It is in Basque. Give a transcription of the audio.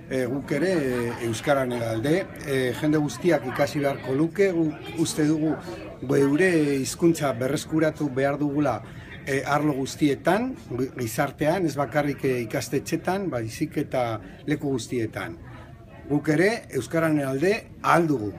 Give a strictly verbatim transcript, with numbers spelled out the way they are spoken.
e, guk ere e, Euskararen alde, e, jende guztiak ikasi beharko luke, guk uste dugu geure hizkuntza berreskuratu behar dugula e, arlo guztietan, gizartean, ez bakarrik ikastetxetan, baizik eta leku guztietan. Guk ere Euskararen alde ahal dugu.